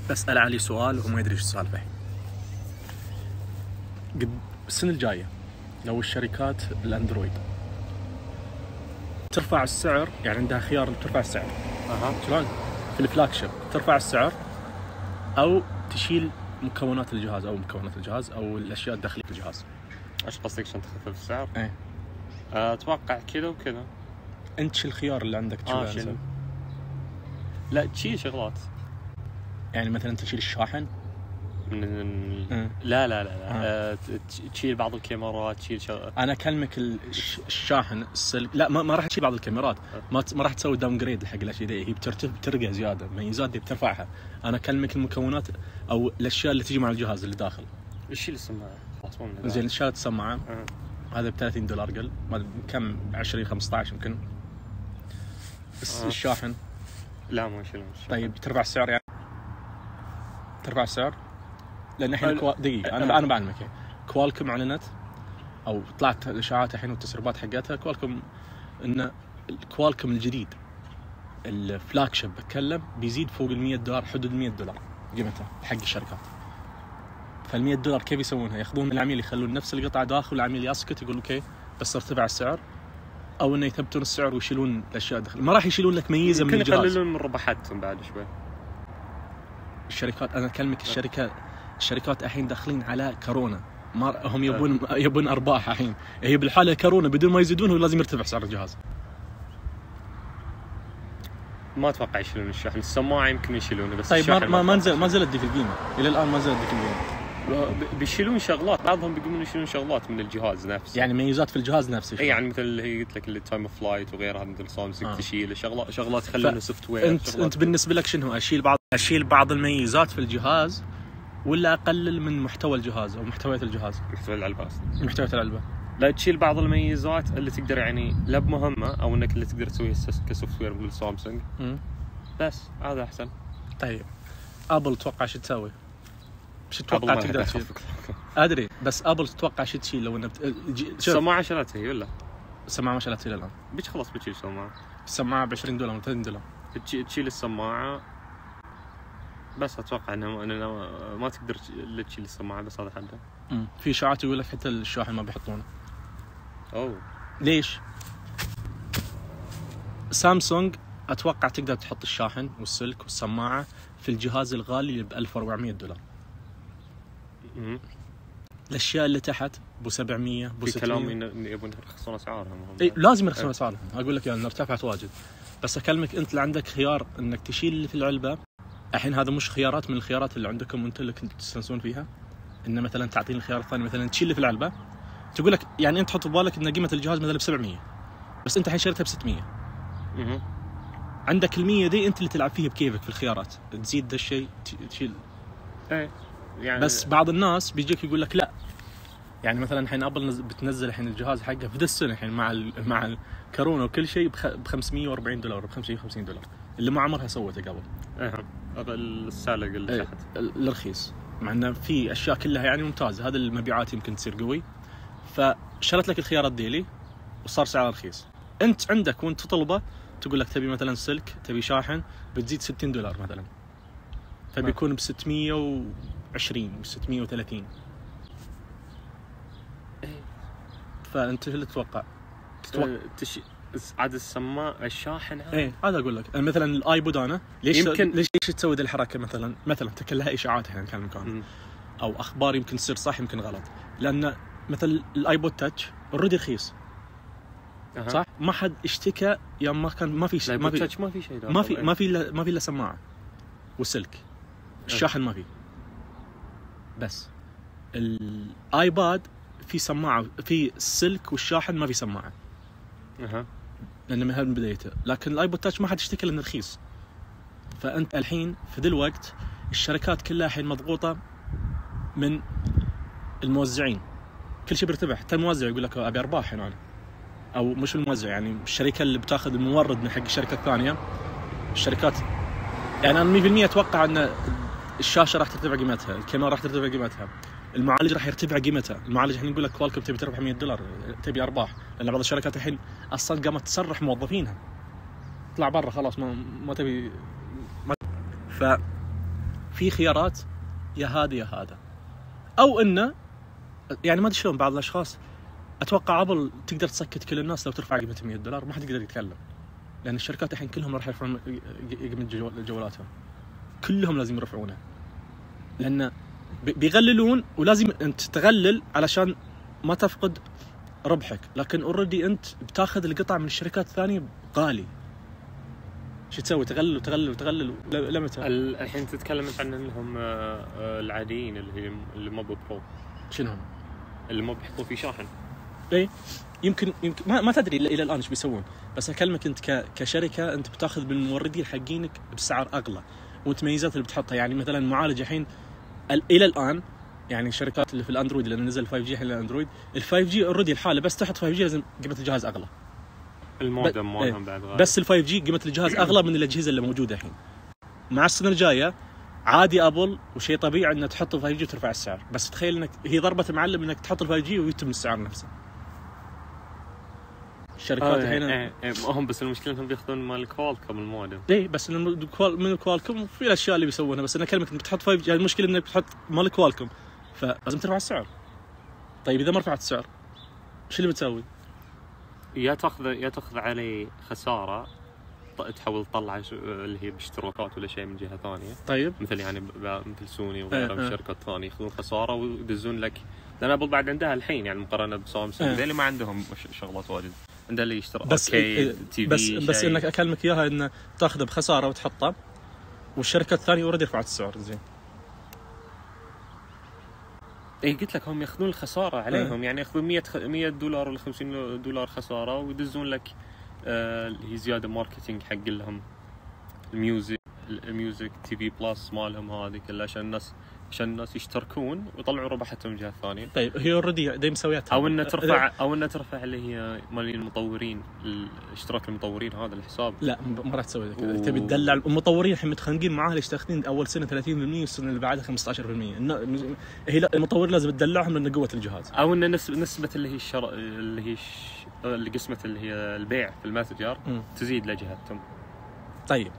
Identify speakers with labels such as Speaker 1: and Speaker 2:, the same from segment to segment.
Speaker 1: بسأل علي سؤال وهو ما يدري ايش السالفة. قد السنة الجاية لو الشركات الاندرويد ترفع السعر، يعني عندها خيار ترفع السعر شلون في الفلاج شيب، ترفع السعر او تشيل مكونات الجهاز او الاشياء الداخلية في الجهاز.
Speaker 2: ايش قصدك عشان تخفف السعر؟
Speaker 1: ايه
Speaker 2: اتوقع كذا وكذا.
Speaker 1: انت شو الخيار اللي عندك تشيله؟
Speaker 2: لا تشيل شغلات،
Speaker 1: يعني مثلا تشيل الشاحن
Speaker 2: لا تشيل بعض الكاميرات، تشيل
Speaker 1: انا اكلمك الشاحن السلك، لا ما راح تشيل بعض الكاميرات، ما راح تسوي داون جريد حق الاشياء دي، هي بترقى زياده، ميزات دي بترفعها. انا اكلمك المكونات او الاشياء اللي تجي مع الجهاز اللي داخل.
Speaker 2: تشيل السماعه خلاص.
Speaker 1: زين شالت السماعه هذا $30 قل ما كم 20-15 يمكن. الشاحن
Speaker 2: لا ما يشيلون.
Speaker 1: طيب ترفع السعر، يعني ترفع السعر لان الحين دقيقه انا بعلمك. كوالكم اعلنت او طلعت الاشاعات الحين والتسريبات حقتها كوالكم ان الكوالكم الجديد الفلاج شيب بتكلم بيزيد فوق $100، حدود $100 قيمته حق الشركات. $100 كيف يسوونها؟ ياخذون العميل يخلون نفس القطعه داخل والعميل يسكت يقول اوكي بس ارتفع السعر، او انه يثبتون السعر ويشيلون الاشياء داخل. ما راح يشيلون لك ميزه من الجهاز،
Speaker 2: يقللون من ربحتهم بعد شوي.
Speaker 1: الشركات انا اكلمك الشركات الحين داخلين على كورونا، ما هم يبون ارباح الحين. هي بالحاله كورونا بدون ما يزيدون هو لازم يرتفع سعر الجهاز.
Speaker 2: ما اتوقع يشيلون الشاحن. السماعه يمكن يشيلونه بس
Speaker 1: طيب ما نزلت دي في القيمه الى الان، ما نزلت دي في القيمه.
Speaker 2: بيشيلون شغلات، بعضهم بيقومون يشيلون شغلات من الجهاز نفسه،
Speaker 1: يعني ميزات في الجهاز نفسه.
Speaker 2: اي يعني مثل اللي هي قلت لك التايم اوف فلايت وغيرها، مثل سامسونج تشيل شغلات يخلونها سوفت وير.
Speaker 1: انت بالنسبه لك شنو؟ اشيل بعض الميزات في الجهاز ولا اقلل من محتوى الجهاز او محتويات الجهاز؟ محتويات العلبه
Speaker 2: لا تشيل بعض الميزات اللي تقدر يعني لا بمهمه او انك اللي تقدر تسويها كسوفت وير مثل سامسونج. بس هذا احسن.
Speaker 1: طيب ابل تتوقع شو تسوي؟ مش تتوقع تقدر تشيل؟ ادري بس ابل تتوقع شو تشيل لو انه
Speaker 2: السماعه شالتها هي ولا؟
Speaker 1: السماعه ما شالتها الان.
Speaker 2: خلاص بتشيل
Speaker 1: السماعه ب $20 و $30.
Speaker 2: تشيل السماعه بس. اتوقع انه ما تقدر تشيل السماعه بس هذا حده.
Speaker 1: في اشاعات يقول لك حتى الشاحن ما بيحطونه. ليش؟ سامسونج اتوقع تقدر تحط الشاحن والسلك والسماعه في الجهاز الغالي اللي $1400. الاشياء اللي تحت ب 700 ب 600.
Speaker 2: في كلام ان يبون يرخصون اسعارهم.
Speaker 1: لازم يرخصون اسعارهم. اقول لك يعني ارتفعت واجد، بس اكلمك انت اللي عندك خيار انك تشيل اللي في العلبه. الحين هذا مش خيارات من الخيارات اللي عندكم انت اللي كنت تستانسون فيها، ان مثلا تعطيني الخيار الثاني مثلا تشيل اللي في العلبه، تقول لك يعني انت تحط في بالك ان قيمه الجهاز مثلا ب 700 بس انت الحين شريتها ب 600. عندك ال100 دي انت اللي تلعب فيها بكيفك في الخيارات، تزيد ذا الشيء تشيل.
Speaker 2: يعني
Speaker 1: بس بعض الناس بيجيك يقول لك لا، يعني مثلا الحين ابل بتنزل الحين الجهاز حقه في ذا السنه الحين مع الكورونا وكل شيء ب $540 ب $550 اللي ما عمرها سوته قبل.
Speaker 2: السالق اللي تحت
Speaker 1: الرخيص، مع انه في اشياء كلها يعني ممتازه. هذا المبيعات يمكن تصير قوي، فشرت لك الخيارات ديلي وصار سعره رخيص. انت عندك وانت تطلبه تقول لك تبي مثلا سلك، تبي شاحن، بتزيد $60 مثلا، فبيكون ب 620 و 630. فانت شو اللي تتوقع؟
Speaker 2: عاد السماعه الشاحن
Speaker 1: هذا اقول لك مثلا الايبود انا ليش تسوي ذي الحركه؟ مثلا تكلها اشاعات يعني كان مكان او اخبار يمكن تصير صح يمكن غلط، لان مثل الايبود تاتش اوريدي رخيص صح؟ ما حد اشتكى يا ما كان ما في شيء، ما في شيء، ما في الا سماعه والسلك. الشاحن ما في، بس الايباد في سماعه، في السلك والشاحن ما في سماعه. لأنه من بدايته. لكن الايبود تاتش ما حد اشتكى لانه رخيص. فانت الحين في ذا الوقت الشركات كلها الحين مضغوطه من الموزعين، كل شيء بيرتفع. حتى الموزع يقول لك ابي ارباح هنا، او مش الموزع يعني الشركه اللي بتاخذ المورد من حق الشركه الثانيه. الشركات يعني انا 100% اتوقع ان الشاشه راح ترتفع قيمتها، الكاميرا راح ترتفع قيمتها، المعالج راح يرتفع قيمته. المعالج الحين يقول لك كوالكم تبي تربح $100 تبي ارباح، لان بعض الشركات الحين اصلا قامت تسرح موظفينها، اطلع برا خلاص ما تبي في خيارات يا هذا يا هذا، او انه يعني ما ادري شلون بعض الاشخاص اتوقع ابل تقدر تسكت كل الناس لو ترفع قيمه $100 ما حد يقدر يتكلم، لان الشركات الحين كلهم راح يرفعون قيمه جوالاتهم، كلهم لازم يرفعونها، لان بيغللون ولازم انت تغلل علشان ما تفقد ربحك، لكن اوريدي انت بتاخذ القطع من الشركات الثانيه غالي. شو تسوي؟ تغلل وتغلل وتغلل لمتى؟
Speaker 2: الحين تتكلم عن انهم العاديين اللي مو برو،
Speaker 1: شنو هم؟
Speaker 2: اللي ما بيحطوا فيه شاحن.
Speaker 1: اي يمكن ما تدري الى الان ايش بيسوون، بس اكلمك انت كشركه انت بتاخذ من الموردين حقينك بسعر اغلى، والتميزات اللي بتحطها يعني مثلا معالج الحين الى الان يعني الشركات اللي في الاندرويد اللي نزل 5G الحين الاندرويد ال5G اوريدي الحاله بس تحط 5G لازم قيمه الجهاز اغلى،
Speaker 2: المودم مالهم بعد غالي،
Speaker 1: بس ال5G قيمه الجهاز اغلى من الاجهزه اللي موجوده الحين. مع السنه الجايه عادي ابل وشيء طبيعي انك تحط ال5G وترفع السعر، بس تخيل انك هي ضربه معلم انك تحط ال5G ويتم السعر نفسه. الشركات الحين
Speaker 2: هم بس المشكله انهم بياخذون مال كوالكوم المودم.
Speaker 1: اي بس من كوالكوم في الاشياء اللي بيسوونها، بس انا كلمه انك تحط 5G المشكله انك بتحط مال كوالكوم فلازم ترفع السعر. طيب اذا ما رفعت السعر ايش اللي بتسوي؟
Speaker 2: يا تاخذ عليه خساره، تحاول تطلع اللي هي باشتراكات ولا شيء من جهه ثانيه.
Speaker 1: طيب
Speaker 2: مثل يعني مثل سوني وغيرها من الشركات الثانيه ياخذون خساره ويدزون لك، لان ابل بعد عندها الحين يعني مقارنه بسامسونج اللي ما عندهم شغلات واجد، عندها اللي يشتري
Speaker 1: بس
Speaker 2: تي في
Speaker 1: بس انك اكلمك اياها انه تاخذه بخساره وتحطه، والشركات الثانيه اوريدي رفعت السعر. زين
Speaker 2: اي قلت لك هم ياخذون الخساره عليهم، يعني ياخذون $100 ولا $50 خساره ويدزون لك اللي هي زياده ماركتينج حق لهم الميوزك تي في بلس مالهم هذه كلها عشان الناس يشتركون ويطلعوا ربحتهم من جهه ثانيه.
Speaker 1: طيب هي اوريدي دايم مسوياتها،
Speaker 2: او ان ترفع اللي هي مال المطورين، الاشتراك المطورين هذا الحساب.
Speaker 1: لا ما راح تسوي كذا، تبي تدلع المطورين الحين متخانقين معاه ليش تاخذين اول سنه 30% والسنه اللي بعدها 15%. هي لا المطور لازم تدلعهم لان قوه الجهاز،
Speaker 2: او ان نسبه اللي هي اللي قسمه اللي هي البيع في المتجر تزيد لجهتهم.
Speaker 1: طيب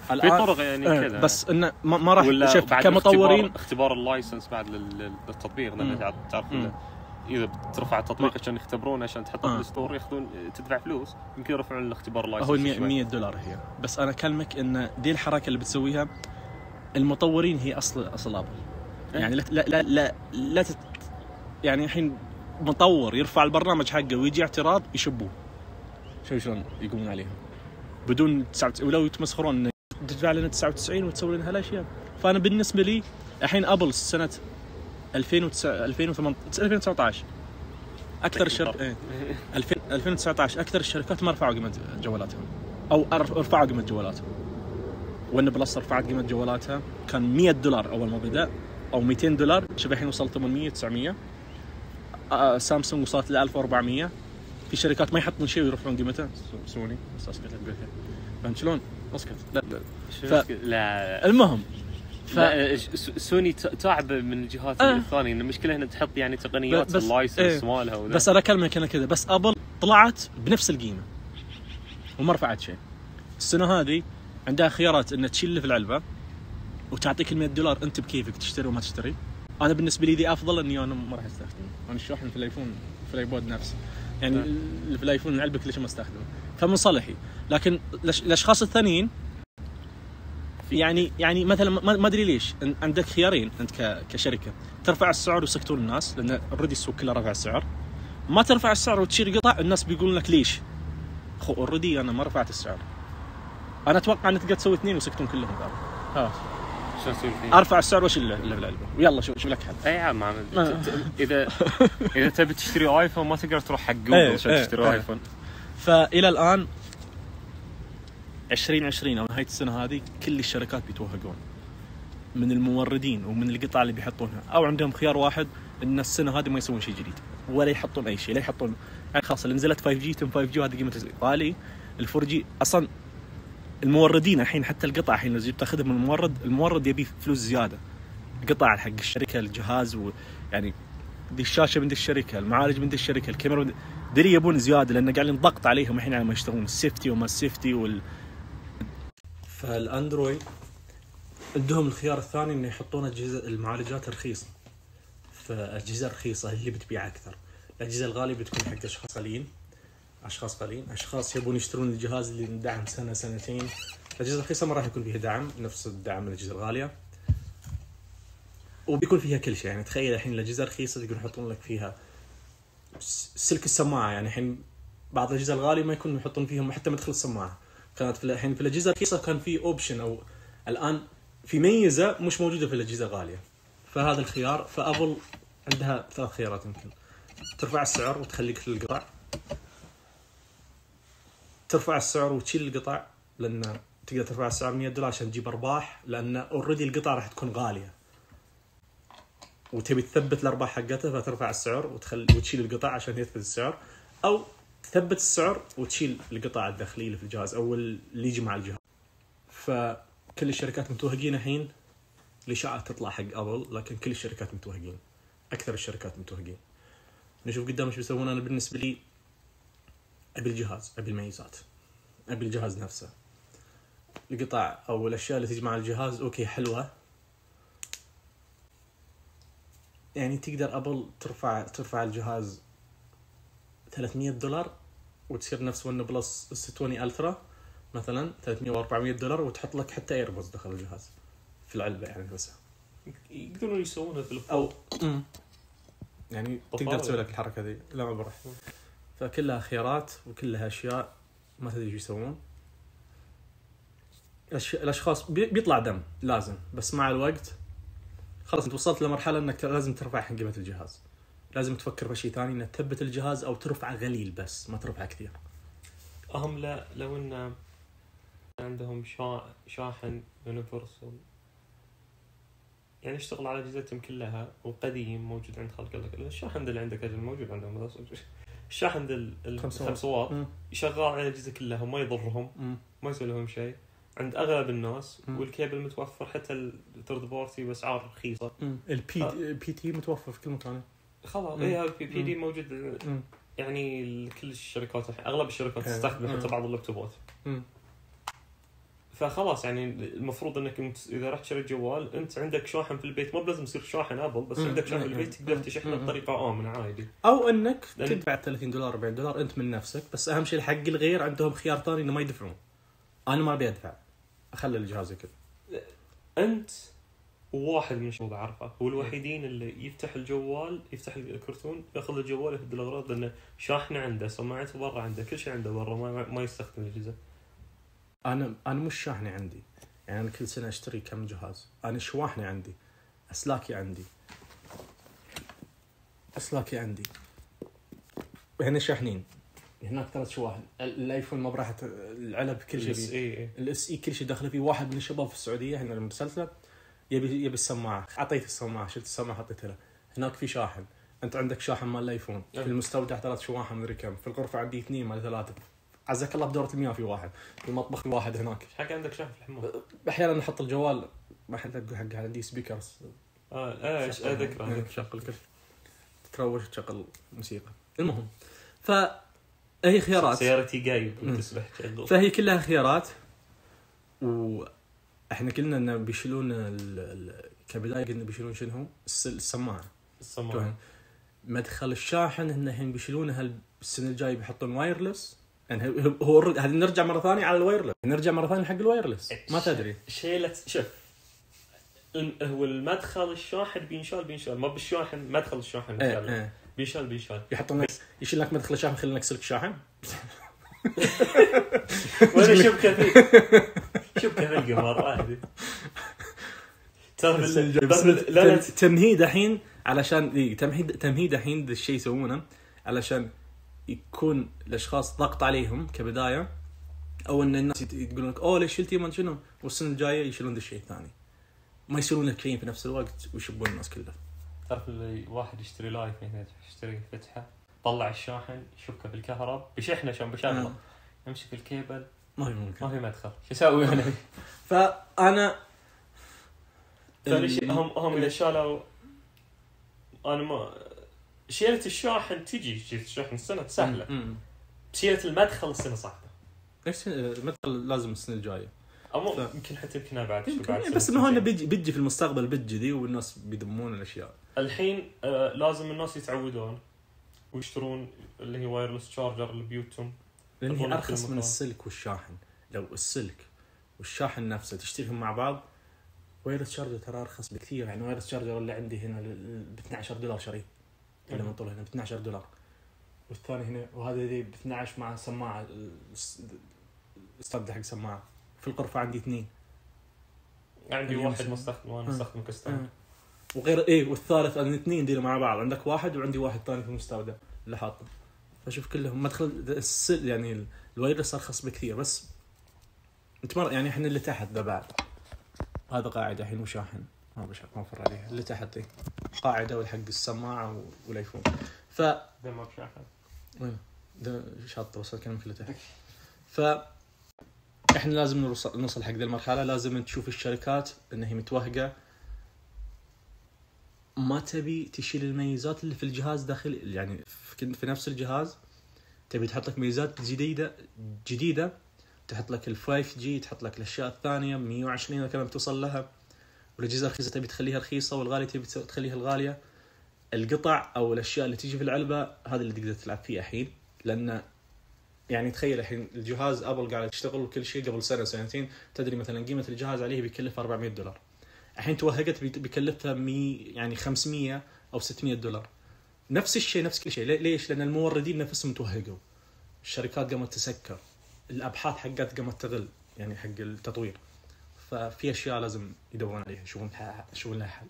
Speaker 2: في طرق يعني كذا،
Speaker 1: بس انه ما راح شوف كمطورين
Speaker 2: اختبار اللايسنس بعد للتطبيق، لان تعرف اذا بترفع التطبيق عشان يختبرونه عشان تحطه في الستور ياخذون تدفع فلوس، يمكن يرفعون الاختبار اللايسنس
Speaker 1: هو $100 هي. بس انا اكلمك ان دي الحركه اللي بتسويها المطورين هي اصل ابل. يعني لا يعني الحين مطور يرفع البرنامج حقه ويجي اعتراض يشبوه، شلون يقومون عليهم بدون ولو يتمسخرون تدفع لنا 99 وتسوي لنا هالاشياء. فانا بالنسبه لي الحين ابل سنه 2019 اكثر الشركات 2019 اكثر الشركات ما رفعوا قيمه جوالاتهم او رفعوا قيمه جوالاتهم. وان بلس رفعت قيمه جوالاتها كان $100 اول ما بدا او $200، شبه الحين وصل 800 900. سامسونج وصلت ل 1400. في شركات ما يحطون شيء ويرفعون قيمته، سوني بس اسكت لك فهمت شلون؟ اسكت
Speaker 2: لا
Speaker 1: المهم
Speaker 2: سوني تعب من الجهات الثانيه، ان المشكله هنا تحط يعني تقنيات اللايسنس مالها
Speaker 1: بس انا اكلمك انا كذا. بس ابل طلعت بنفس القيمه وما رفعت شيء. السنه هذه عندها خيارات ان تشيل اللي في العلبه وتعطيك $100 انت بكيفك تشتري وما تشتري. انا بالنسبه لي دي افضل، اني انا ما راح استخدمه. انا الشاحن في الايفون في الايبود نفسه يعني اللي في الايفون العلبه ليش ما استخدمه، فمن صالحي. لكن الاشخاص الثانيين يعني مثلا ما ادري ليش عندك خيارين انت كشركه، ترفع السعر ويسكتون الناس لان اوريدي السوق كله رفع السعر، ما ترفع السعر وتشيل قطع الناس بيقولون لك ليش اوريدي انا ما رفعت السعر. انا اتوقع ان تقدر تسوي اثنين ويسكتون كلهم ها ارفع السعر واشيل اللي في العلبه ويلا شوف لك حل.
Speaker 2: اي عم اذا تبي تشتري ايفون ما تقدر تروح حق جوجل عشان تشتري ايفون.
Speaker 1: فالى الان 2020 او نهايه السنه هذه كل الشركات بيتوهقون من الموردين ومن القطع اللي بيحطونها، او عندهم خيار واحد ان السنه هذه ما يسوون شيء جديد ولا يحطون اي شيء، لا يحطون يعني خلاص اللي نزلت 5G تم 5G وهذه قيمته غالي. ال4G اصلا الموردين الحين حتى القطع الحين لو جيت تاخذها من المورد يبي فلوس زياده، قطع حق الشركه الجهاز ويعني دي الشاشه من دي الشركه، المعالج من دي الشركه، الكاميرا دري يبون زياده لان قاعدين ضغط عليهم الحين على ما يشتغلون السيفتي وما السيفتي فالاندرويد عندهم الخيار الثاني إنه يحطون أجهزة المعالجات رخيصة، فأجهزة رخيصة اللي بتبيع أكثر. الأجهزة الغالية بتكون حق أشخاص قليل، أشخاص يبون يشترون الجهاز اللي ندعم سنة سنتين. الأجهزة الرخيصة ما راح يكون فيها دعم نفس الدعم الأجهزة الغالية، وبيكون فيها كل شيء. يعني تخيل الحين الأجهزة الرخيصة يقدرون يحطون لك فيها سلك السماعة. يعني الحين بعض الأجهزة الغالية ما يكونوا يحطون فيهم حتى مدخل السماعة. كانت الحين في الأجهزة الرخيصة كان في أوبشن، أو الآن في ميزة مش موجودة في الأجهزة الغالية. فهذا الخيار. فأبل عندها 3 خيارات، يمكن ترفع السعر وتخليك في القطع، ترفع السعر وتشيل القطع، لأن تقدر ترفع السعر $100 عشان تجيب أرباح، لأن أوريدي القطع راح تكون غالية وتبي تثبت الأرباح حقتها، فترفع السعر وتشيل القطع عشان يثبت السعر، أو تثبت السعر وتشيل القطع الداخلية اللي في الجهاز أو اللي يجي مع الجهاز. فكل الشركات متوهقين الحين، الإشاعات تطلع حق أبل، لكن كل الشركات متوهقين، أكثر الشركات متوهقين. نشوف قدام ايش بيسوون. أنا بالنسبة لي أبي الجهاز، أبي الميزات، أبي الجهاز نفسه. القطع أو الأشياء اللي تجي مع الجهاز أوكي حلوة، يعني تقدر أبل ترفع الجهاز $300 وتصير نفس ون بلس S20 ألترا مثلا $300 و$400، وتحط لك حتى ايربودز داخل الجهاز في العلبة. يعني بس
Speaker 2: يقدرون يسوونها في
Speaker 1: أو يعني تقدر تسوي لك الحركة ذي. لا ما بروح. فكلها خيارات وكلها أشياء ما تدري ايش يسوون. الأشخاص بيطلع دم لازم، بس مع الوقت خلاص انت وصلت لمرحلة انك لازم ترفع قيمة الجهاز. لازم تفكر بشيء ثاني، انك تثبت الجهاز او ترفع قليل بس ما ترفع كثير.
Speaker 2: لا لو ان عندهم شاحن يونيفرسال، يعني اشتغل على اجهزتهم كلها وقديم موجود عند خلق لك. الشاحن اللي عندك اجل موجود عندهم، الشاحن 5 واط يشغل على الاجهزه كلها وما يضرهم، ما يسوي لهم شيء عند اغلب الناس. والكيبل متوفر حتى الثيرد بارتي باسعار رخيصه.
Speaker 1: البي تي متوفر في كل مكان
Speaker 2: خلاص. البي دي موجود. يعني كل الشركات اغلب الشركات تستخدم حتى بعض اللابتوبات. فخلاص يعني المفروض انك اذا رحت شريت جوال انت عندك شاحن في البيت، مو بلازم يصير شاحن ابل، بس عندك شاحن في البيت تقدر تشحنه بطريقه امنه عادي،
Speaker 1: او انك تدفع $30 $40 انت من نفسك. بس اهم شيء حق الغير عندهم خيار ثاني انه ما يدفعون. انا ما ابي ادفع، اخلي الجهاز كذا.
Speaker 2: انت وواحد من الشباب اعرفه هو الوحيدين اللي يفتح الجوال، يفتح الكرتون، ياخذ الجوال يهد الاغراض، لانه شاحنه عنده، سماعته برا عنده، كل شيء عنده برا، ما يستخدم الاجهزه.
Speaker 1: انا مش شاحنه عندي، يعني انا كل سنه اشتري كم جهاز. انا شواحنه عندي، اسلاكي عندي هنا شاحنين، هناك 3 شواحن. الايفون ما براح العلب كل شيء، الاس اي كل شيء داخله فيه. واحد من الشباب في السعوديه هنا المرسلته يبي السماعه، اعطيته السماعه، شلت السماعه حطيتها له. هناك في شاحن، انت عندك شاحن مال الايفون في المستودع 3 شواحن مدري كم، في الغرفه عندي 2 مال 3. عزك الله بدورة المياه في واحد، في المطبخ في واحد هناك.
Speaker 2: ايش حق عندك شاحن في الحمام؟
Speaker 1: احيانا نحط الجوال ما حد اقول حق عندي سبيكرز.
Speaker 2: ايش اذكر
Speaker 1: تشغل كل تروش تشغل موسيقى. المهم فهي خيارات،
Speaker 2: سيارتي جايب وتسبح تشغل.
Speaker 1: فهي كلها خيارات. واحنا قلنا ان بيشيلون كبدايه، قلنا بيشيلون شنو السماعه. مدخل الشاحن انهم بيشيلونها السنه الجايه، بيحطون وايرلس. يعني هو هذه نرجع مره ثانيه على الوايرلس، نرجع مره ثانيه حق الوايرلس. ما تدري
Speaker 2: شوف هو المدخل الشاحن بينشال ما بالشاحن، مدخل الشاحن بينشال
Speaker 1: يحطون لك، يشيل لك مدخل الشاحن، يخلي لك سلك شاحن.
Speaker 2: ولا شبكه في القمر عادي.
Speaker 1: ترى تمهيد الحين علشان تمهيد الحين ذا الشيء يسوونه علشان يكون الاشخاص ضغط عليهم كبدايه، او ان الناس يقولون لك اوه ليش شلتي من شنو، والسنه الجايه يشيلون ذا الشيء الثاني، ما يصيرون لك شيء في نفس الوقت ويشبون الناس كلها.
Speaker 2: تعرف اللي واحد يشتري لايف هنا، يشتري فتحه، طلع الشاحن يشبكه في الكهرباء بشحنه عشان بشغله، يمسك الكيبل ما في مدخل، شو اسوي انا؟
Speaker 1: فانا
Speaker 2: هم اذا شالوا، انا ما شيلة الشاحن تجي شيلة الشاحن السنة سهلة، شيلة المدخل السنة صعبة.
Speaker 1: ايش المدخل لازم السنة الجاية.
Speaker 2: يمكن حتى يمكن بعد
Speaker 1: شو بعد بس انه هون بيجي في المستقبل بيجي ذي والناس بيدمون الاشياء.
Speaker 2: الحين لازم الناس يتعودون ويشترون اللي هي وايرلس شارجر لبيوتهم،
Speaker 1: لأن هي ارخص من السلك والشاحن. لو السلك والشاحن نفسه تشتريهم مع بعض، وايرلس شارجر ترى ارخص بكثير. يعني وايرلس شارجر اللي عندي هنا ب $12 شري اللي من طوله هنا ب $12، والثاني هنا وهذا ذي ب 12 مع سماعه استبدل حق سماعه. في الغرفه عندي 2،
Speaker 2: عندي واحد مستخدم وانا استخدم كستم
Speaker 1: وغير والثالث عندي 2 دي مع بعض. عندك واحد وعندي واحد ثاني في المستودع اللي حاطه. فشوف كلهم مدخل يعني الوايرلس ارخص بكثير. بس انت يعني احنا اللي تحت ذا بعد هذا قاعده الحين وشاحن ما بفر عليها. اللي تحت قاعده والحق السماعه والايفون.
Speaker 2: ده ما بشاحن
Speaker 1: ده شاطر وصل كلام كله تحت. احنا لازم نوصل حق ذي المرحله. لازم تشوف الشركات انها متوهقه، ما تبي تشيل الميزات اللي في الجهاز داخل. يعني في نفس الجهاز تبي تحط لك ميزات جديده تحط لك ال 5G، تحط لك الاشياء الثانيه 120 كمان توصل لها. والاجهزه الرخيصه تبي تخليها رخيصه، والغاليه تبي تخليها الغاليه. القطع او الاشياء اللي تيجي في العلبه هذا اللي تقدر تلعب فيه الحين. لان يعني تخيل الحين الجهاز ابل قاعد تشتغل وكل شيء قبل سنه سنتين تدري مثلا قيمه الجهاز عليه بيكلف $400. الحين توهقت بيكلفها يعني 500 او $600. نفس الشيء نفس كل شيء. ليش؟ لان الموردين نفسهم توهقوا، الشركات قامت تسكر، الابحاث حقت قامت تغل يعني حق التطوير. ففي اشياء لازم يدورون عليها يشوفون لها حل.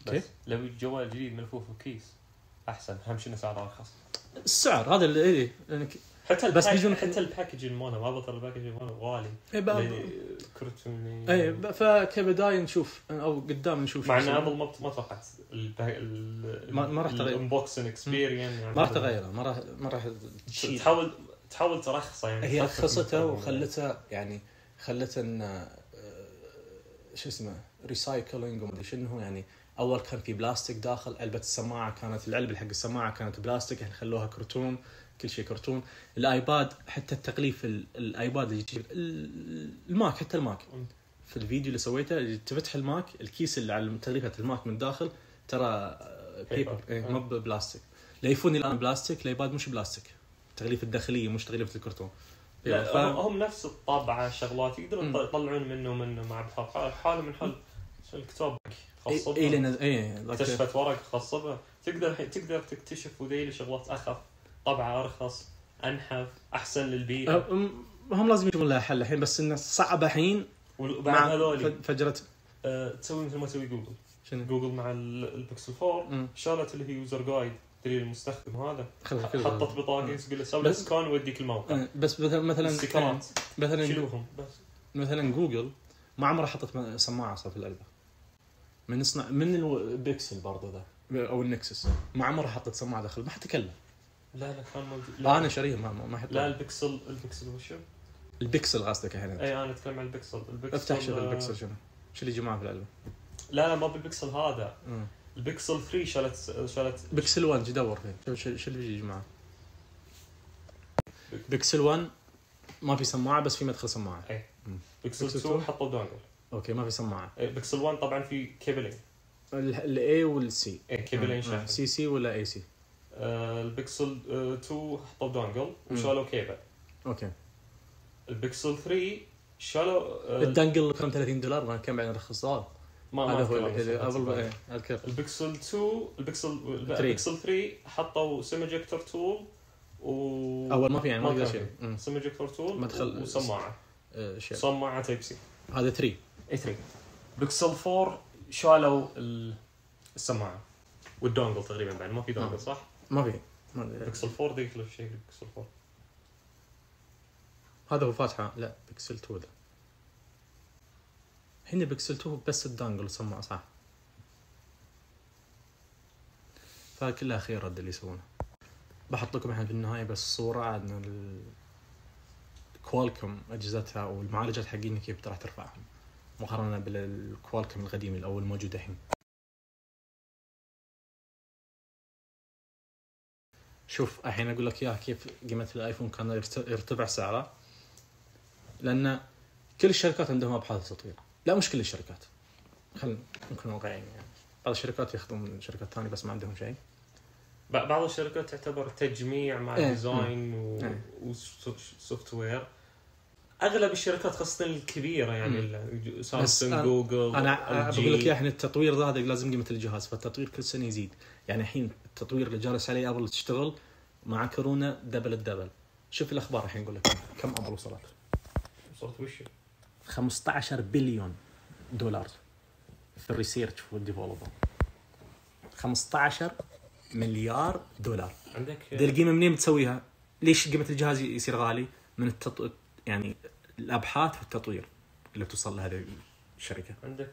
Speaker 2: بس لو الجوال جديد ملفوف بكيس احسن. اهم شيء سعره ارخص.
Speaker 1: السعر هذا اللي
Speaker 2: حتى بس بيجون حتى الباكجين مالنا ما بطل الباكجين مالنا غالي. كرتون
Speaker 1: فكبدايه نشوف او قدام نشوف.
Speaker 2: مع ان ابل ما توقعت
Speaker 1: ما راح تغير
Speaker 2: الانبوكسنج اكسبيرينس. يعني
Speaker 1: ما راح تغيره. ما راح
Speaker 2: تحاول ترخصه. يعني
Speaker 1: هي رخصته وخلته يعني خلته ان شو اسمه ريسايكلينج وما ادري شنو. يعني اول كان في بلاستيك داخل علبه السماعه، كانت العلبه حق السماعه كانت بلاستيك، الحين خلوها كرتون، كل شيء كرتون. الايباد حتى التغليف الايباد اللي يجيب الماك، حتى الماك في الفيديو اللي سويته تفتح الماك الكيس اللي على تغليفه الماك من داخل ترى بيبر مو بلاستيك. الايفون الان بلاستيك، الايباد مش بلاستيك، تغليف الداخليه مش تغليفه الكرتون.
Speaker 2: هم نفس الطابعه شغلات يقدرون يطلعون منه مع حاله من حل الكتاب خاصه اكتشفت ورق خاصه به. تقدر تكتشف وذيل شغلات اخف، طبعه ارخص، انحف، احسن للبيئه.
Speaker 1: هم لازم يجيبون لها حل الحين، بس انه صعب الحين.
Speaker 2: وبعد هذول
Speaker 1: فجرت
Speaker 2: تسوي مثل ما تسوي جوجل. جوجل مع البيكسل 4 شالت اللي هي يوزر جايد دليل المستخدم. هذا حطت بطاقه تقول له سوي سكان ويديك الموقع.
Speaker 1: بس مثلا
Speaker 2: شيلوهم. بس
Speaker 1: مثلا جوجل ما عمرها حطت سماعه صار في العلبه من البيكسل برضه ذا او النكسس، ما عمرها حطت سماعه داخل، ما حتكلم.
Speaker 2: لا كان موجود.
Speaker 1: انا شاريه ما حط.
Speaker 2: لا البيكسل وشو
Speaker 1: البيكسل قصدك الحين؟
Speaker 2: اي انا اتكلم عن البيكسل.
Speaker 1: افتح شوف البيكسل شو اللي جماعه في العلبه.
Speaker 2: لا ما بالبيكسل هذا. البيكسل 3 شالت
Speaker 1: بيكسل 1 جدور فيه. شو اللي بيجي جماعه؟ بيكسل 1 ما في سماعه بس في مدخل سماعه.
Speaker 2: اي بيكسل 2 حطوا دونجل.
Speaker 1: اوكي ما في سماعه.
Speaker 2: بيكسل 1 طبعا في كيبلين،
Speaker 1: الاي والسي.
Speaker 2: كيبلين شاحن
Speaker 1: سي ولا اي سي.
Speaker 2: البيكسل 2 حطوا دونجل وشالوا كيبل.
Speaker 1: اوكي.
Speaker 2: البيكسل 3 شالوا
Speaker 1: الدنجل كان $30 ما كان بعدين رخصوه.
Speaker 2: ما
Speaker 1: هو
Speaker 2: البيكسل 2 البيكسل 3 حطوا سيمجكتور تول
Speaker 1: اول ما في يعني ما اقدر شيء
Speaker 2: سيمجكتور تول
Speaker 1: مدخل
Speaker 2: وسماعه سماعه تايب سي.
Speaker 1: هذا 3
Speaker 2: بيكسل 4 شالوا السماعه والدونجل تقريبا بعد ما في دونجل صح؟
Speaker 1: ما في
Speaker 2: بيكسل 4 ذيك الشيء. بيكسل 4
Speaker 1: هذا هو فاتحه. لا بيكسل 2 ده هنا بيكسل 2 بس الدانجل والسماعه صح. فكلها خير رد اللي يسوونه. بحط لكم الحين في النهايه بس صوره عن الكوالكوم اجهزتها والمعالجات حقين كيف راح ترفعهم مقارنه بالكوالكوم القديم او الموجود الحين. شوف الحين اقول لك اياها كيف قيمه الايفون كان يرتفع سعره، لان كل الشركات عندهم ابحاث تطوير. لا مش كل الشركات، خلينا نكون واقعيين يعني. بعض الشركات ياخذون من شركات ثانيه بس ما عندهم شيء.
Speaker 2: بعض الشركات تعتبر تجميع مع ديزاين وسوفت وير. اغلب الشركات خاصه الكبيره يعني سامسونج جوجل.
Speaker 1: انا بقول لك احنا التطوير هذا لازم قيمه الجهاز، فالتطوير كل سنه يزيد. يعني الحين التطوير اللي جالس عليه ابل تشتغل مع كورونا دبل. شوف الاخبار الحين يقول لك كم ابل وصلت
Speaker 2: وش
Speaker 1: 15 بليون دولار في الريسيرش والديفلوبمنت. 15 مليار دولار.
Speaker 2: عندك
Speaker 1: دي القيمه منين بتسويها؟ ليش قيمه الجهاز يصير غالي؟ من يعني الابحاث والتطوير اللي توصل لهذه الشركه.
Speaker 2: عندك